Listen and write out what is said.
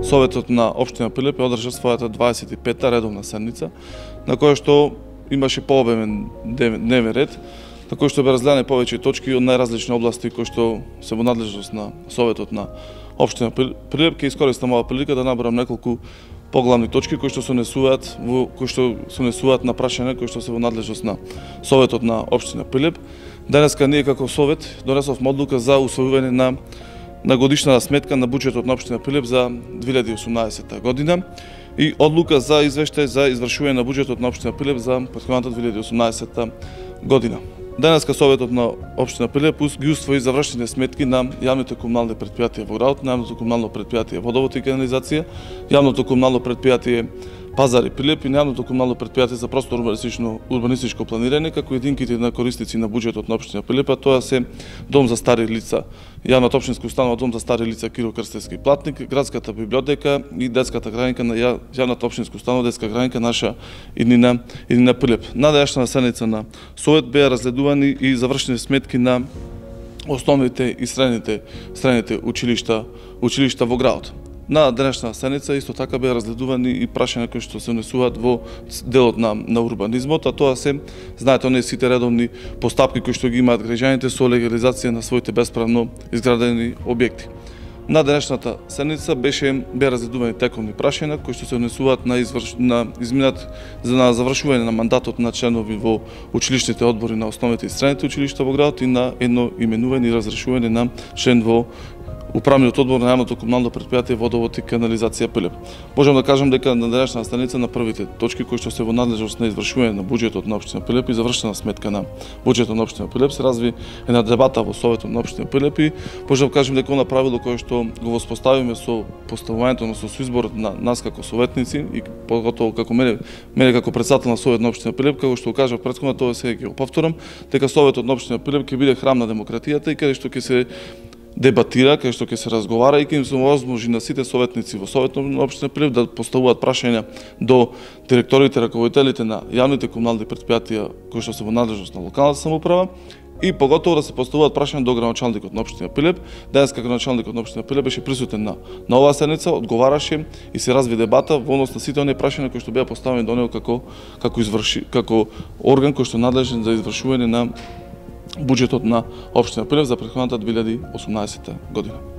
Советот на општина Прилеп одржа својата 25-та редовна седница, на која што имаше пообемен дневен ред, на кој што бе разгледани повеќе точки од најразлични области кои што се во надлежност на Советот на општина Прилеп. Ќе искористам оваа прилика да набрам неколку поглавни точки кои што се однесуваат на прашања кои што се во надлежност на Советот на општина Прилеп. Денеска ние како Совет донесовме одлука за усвојување на годишна сметка на буџетот на општина Прилеп за 2018 година и одлука за извештај за извршување на буџетот на општина Прилеп за претходната 2018 година. Денеска Советот на општина Прилеп ги усвои завршени сметки на јавните комунални претпријатија во градот, на јавното комунално претпријатие Водовод и канализација, јавното комунално претпријатие Пазари Прилеп и јавното комунално претпријатие за просторно урбанистичко планирање, како единките на корисници на буџетот на општина Прилеп, тоа се Дом за стари лица, јавната општинска установа Дом за стари лица Киро Крстевски Платник, градската библиотека и детската градинка на јавната општинска установа Детска градинка Наша иднина Прилеп. На денешната седница на Совет беа разгледувани и завршени сметки на основните и средните училишта во градот. На денешна седница исто така беа разгледувани и прашања кои што се однесуваат во делот на урбанизмот, а тоа се, знаете, оние сите редовни постапки кои што ги имаат граѓаните со легализација на своите бесправно изградени објекти. На денешната седница беа разгледувани тековни прашања кои што се однесуваат на завршување на мандатот на членови во училишните одбори на основните и средните училишта во градот и на едно именување и разрешување на член во Управниот одбор на јавното комунално претпријатие Водовод и канализација Прилеп. Можам да кажам дека на денешна станица на првите точки кои што се во надлежност на извршување на буџетот на општина Прилеп и завршена сметка на буџетот на општина Прилеп се разви една дебата во Советот на општина Прилеп и можам да кажам дека она правило кое што го воспоставиме со поставувањето со изборот на нас како советници и поготово како мене како претседател на Совет на општина Прилеп, како што кажав претходно, тоа сега ќе го повторам, дека Советот на општина Прилеп ќе биде храм на демократијата и каде што ќе се дебатира, кај што ќе се разговара и ќе им се овозможи на сите советници во Советот на општина Прилеп да поставуваат прашања до директорите, раководителите на јавните комунални претпријатија кои што се во надлежност на локалната самоуправа и поготово да се поставуваат прашања до градоначалникот на општина Прилеп. Денеска градоначалникот на општина Прилеп беше присутен на оваа седница, одговараше и се разви дебата во однос на сите оние прашања кои што беа поставени до него како орган кој што е надлежен за извршување на буџетот на општина Прилеп за претходната 2018 година.